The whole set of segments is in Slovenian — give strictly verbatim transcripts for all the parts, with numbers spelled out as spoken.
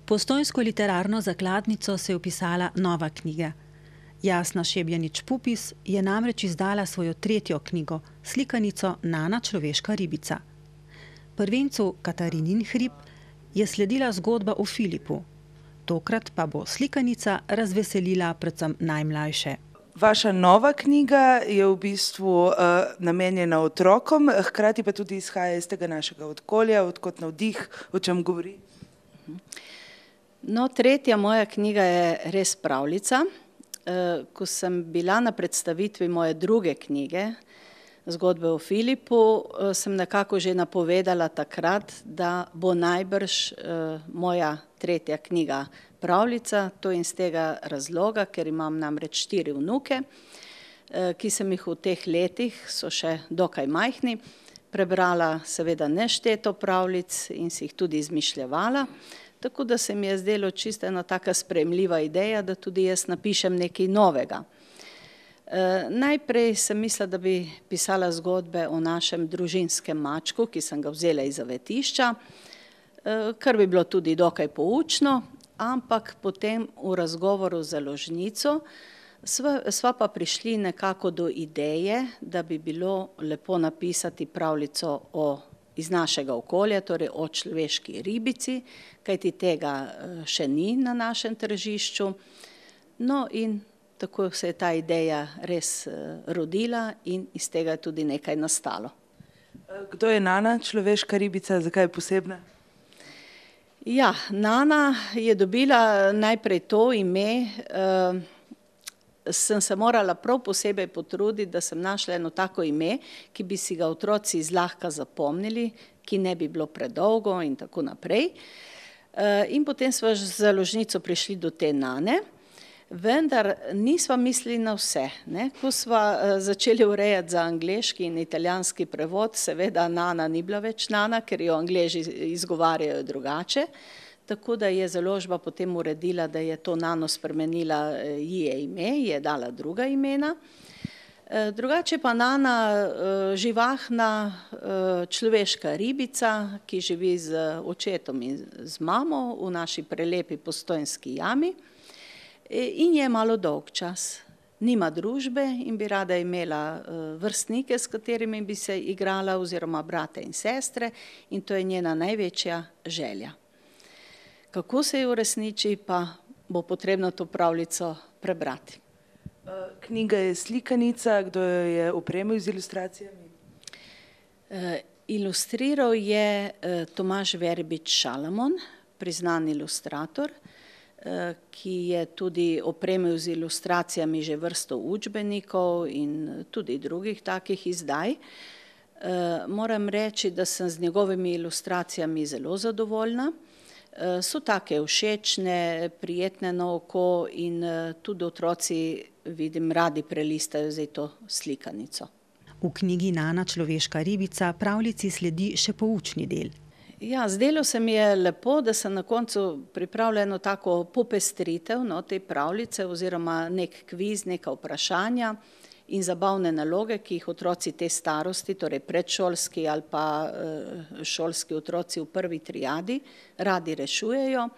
Postojnsko literarno zakladnico se je vpisala nova knjiga. Jasna Šebjanič-Pupis je namreč izdala svojo tretjo knjigo, slikanico Nana človeška ribica. Prvencu Katarinin hrib je sledila zgodba o Filipu. Tokrat pa bo slikanica razveselila predvsem najmlajše. Vaša nova knjiga je v bistvu uh, namenjena otrokom, hkrati pa tudi izhaja iz tega našega okolja, odkot navdih, o čem govori? No, tretja moja knjiga je res pravljica. Uh, ko sem bila na predstavitvi moje druge knjige, Zgodbe o Filipu, uh, sem nekako že napovedala takrat, da bo najbrž uh, moja tretja knjiga pravljica, to in z tega razloga, ker imam namreč štiri vnuke, ki sem jih v teh letih, so še dokaj majhni, prebrala seveda nešteto pravljic in si jih tudi izmišljevala, tako da se mi je zdelo čisto ena taka sprejemljiva ideja, da tudi jaz napišem nekaj novega. Najprej sem mislila, da bi pisala zgodbe o našem družinskem mačku, ki sem ga vzela iz zavetišča, kar bi bilo tudi dokaj poučno, ampak potem v razgovoru z založnico sva, sva pa prišli nekako do ideje, da bi bilo lepo napisati pravljico o, iz našega okolja, torej o človeški ribici, kajti tega še ni na našem tržišču. No in tako se je ta ideja res rodila in iz tega je tudi nekaj nastalo. Kdo je Nana človeška ribica, zakaj je posebna? Ja, Nana je dobila najprej to ime, uh, sem se morala prav posebej potruditi, da sem našla eno tako ime, ki bi si ga otroci zlahka zapomnili, ki ne bi bilo predolgo in tako naprej. Uh, in potem sva z založnico prišli do te Nane, vendar nisva mislili na vse. Ne? Ko sva uh, začeli urejati za angleški in italijanski prevod, seveda Nana ni bila več Nana, ker jo Angleži izgovarjajo drugače, tako da je založba potem uredila, da je to Nano spremenila, ji je ime, ji je dala druga imena. Uh, drugače pa Nana, uh, živahna uh, človeška ribica, ki živi z očetom in z mamo v naši prelepi Postojnski jami, in je malo dolg čas. Nima družbe in bi rada imela vrstnike, s katerimi bi se igrala, oziroma brate in sestre, in to je njena največja želja. Kako se jo uresniči, pa bo potrebno to pravljico prebrati. Knjiga je slikanica, kdo jo je opremil z ilustracijami? Ilustriral je Tomaž Verbič Šalamon, priznan ilustrator, ki je tudi opremil z ilustracijami že vrsto učbenikov in tudi drugih takih izdaj. Moram reči, da sem z njegovimi ilustracijami zelo zadovoljna. So take všečne, prijetne na oko in tudi otroci, vidim, radi prelistajo zdaj to slikanico. V knjigi Nana človeška ribica pravljici sledi še poučni del. Ja, zdelo se mi je lepo, da sem na koncu pripravila eno tako popestritev, no, te pravljice oziroma nek kviz, neka vprašanja in zabavne naloge, ki jih otroci te starosti, torej predšolski ali pa šolski otroci v prvi triadi, radi rešujejo.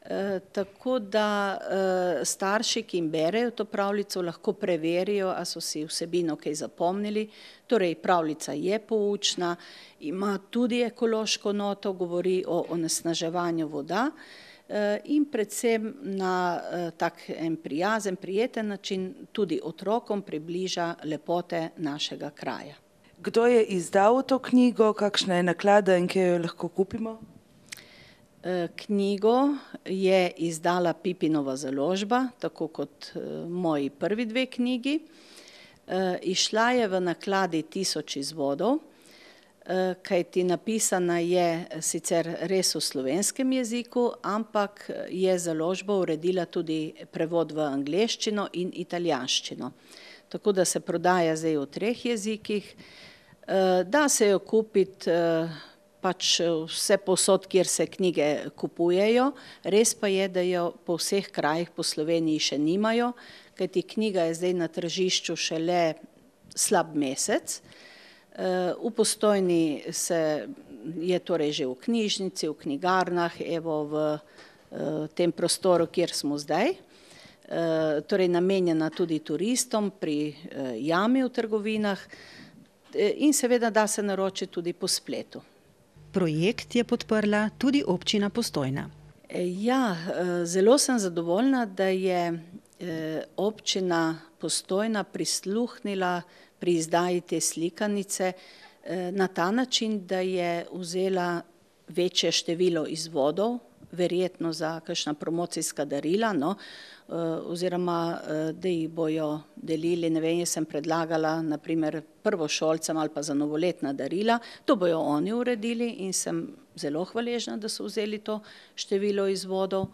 E, tako da e, starši, ki jim berejo to pravljico, lahko preverijo, a so si vsebino kaj zapomnili. Torej, pravljica je poučna, ima tudi ekološko noto, govori o onesnaževanju voda e, in predvsem na e, tak en prijazen, prijeten način tudi otrokom približa lepote našega kraja. Kdo je izdal to knjigo, kakšna je naklada in kje jo lahko kupimo? Knjigo je izdala Pipinova založba, tako kot moji prvi dve knjigi. Išla je v nakladi Tisoč izvodov, kajti napisana je sicer res v slovenskem jeziku, ampak je založba uredila tudi prevod v angleščino in italijanščino. Tako da se prodaja zdaj v treh jezikih. Da se jo kupiti pač vse povsod, kjer se knjige kupujejo, res pa je, da jo po vseh krajih po Sloveniji še nimajo, kajti knjiga je zdaj na tržišču šele slab mesec. V Postojni se je torej že v knjižnici, v knjigarnah, evo v tem prostoru, kjer smo zdaj. Torej namenjena tudi turistom pri jami v trgovinah in seveda da se naročiti tudi po spletu. Projekt je podprla tudi občina Postojna. Ja, zelo sem zadovoljna, da je občina Postojna prisluhnila pri izdaji te slikanice na ta način, da je vzela večje število izvodov, verjetno za kakšna promocijska darila, no, oziroma da jih bojo delili, ne vem, jaz sem predlagala naprimer prvošolcem ali pa za novoletna darila, to bojo oni uredili in sem zelo hvaležna, da so vzeli to število izvodov.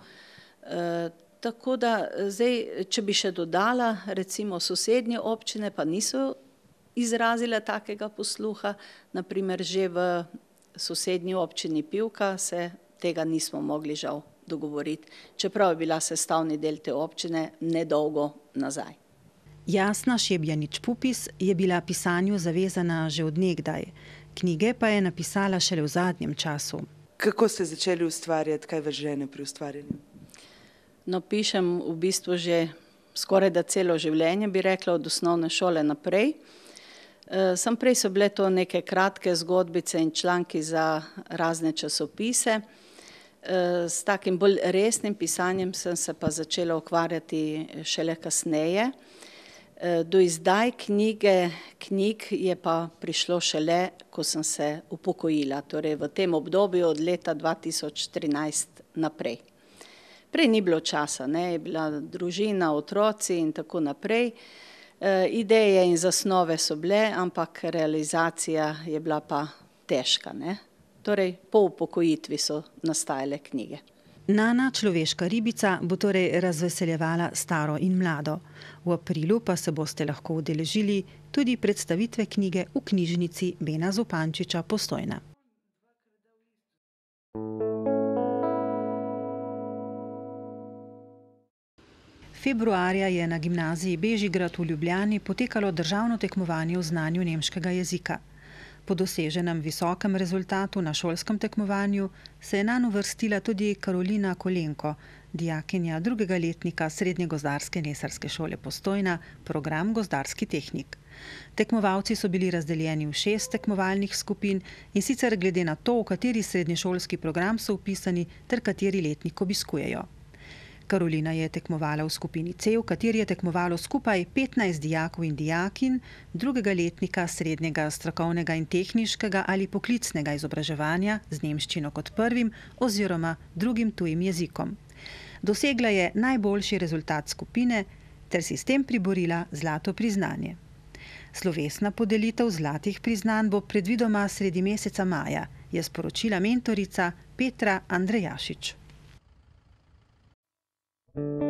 Tako da zdaj, če bi še dodala, recimo sosednje občine pa niso izrazile takega posluha, naprimer že v sosednji občini Pivka se tega nismo mogli žal dogovoriti, čeprav je bila sestavni del te občine nedolgo nazaj. Jasna Šebjanič-Pupis je bila pisanju zavezana že od nekdaj, knjige pa je napisala šele v zadnjem času. Kako ste začeli ustvarjati, kaj vas žene pri ustvarjanju? No, pišem v bistvu že skoraj da celo življenje, bi rekla, od osnovne šole naprej. Sam prej so bile to neke kratke zgodbice in članki za razne časopise. S takim bolj resnim pisanjem sem se pa začela ukvarjati šele kasneje. Do izdaj knjige, knjig je pa prišlo šele, ko sem se upokojila, torej v tem obdobju od leta dva tisoč trinajst naprej. Prej ni bilo časa, ne, je bila družina, otroci in tako naprej. Ideje in zasnove so bile, ampak realizacija je bila pa težka, ne. Torej, po upokojitvi so nastajale knjige. Nana, človeška ribica, bo torej razveseljevala staro in mlado. V aprilu pa se boste lahko udeležili tudi predstavitve knjige v knjižnici Bena Zupančiča Postojna. Februarja je na gimnaziji Bežigrad v Ljubljani potekalo državno tekmovanje v znanju nemškega jezika. Po doseženem visokem rezultatu na šolskem tekmovanju se je nanj uvrstila tudi Karolina Kolenko, dijakinja drugega letnika Srednje gozdarske lesarske šole Postojna, program Gozdarski tehnik. Tekmovalci so bili razdeljeni v šest tekmovalnih skupin in sicer glede na to, v kateri srednješolski program so vpisani ter kateri letnik obiskujejo. Karolina je tekmovala v skupini C, v kateri je tekmovalo skupaj petnajst dijakov in dijakinj drugega letnika srednjega strokovnega in tehniškega ali poklicnega izobraževanja z nemščino kot prvim oziroma drugim tujim jezikom. Dosegla je najboljši rezultat skupine ter si s tem priborila zlato priznanje. Slovesna podelitev zlatih priznanj bo predvidoma sredi meseca maja, je sporočila mentorica Petra Andrejašič. Thank you.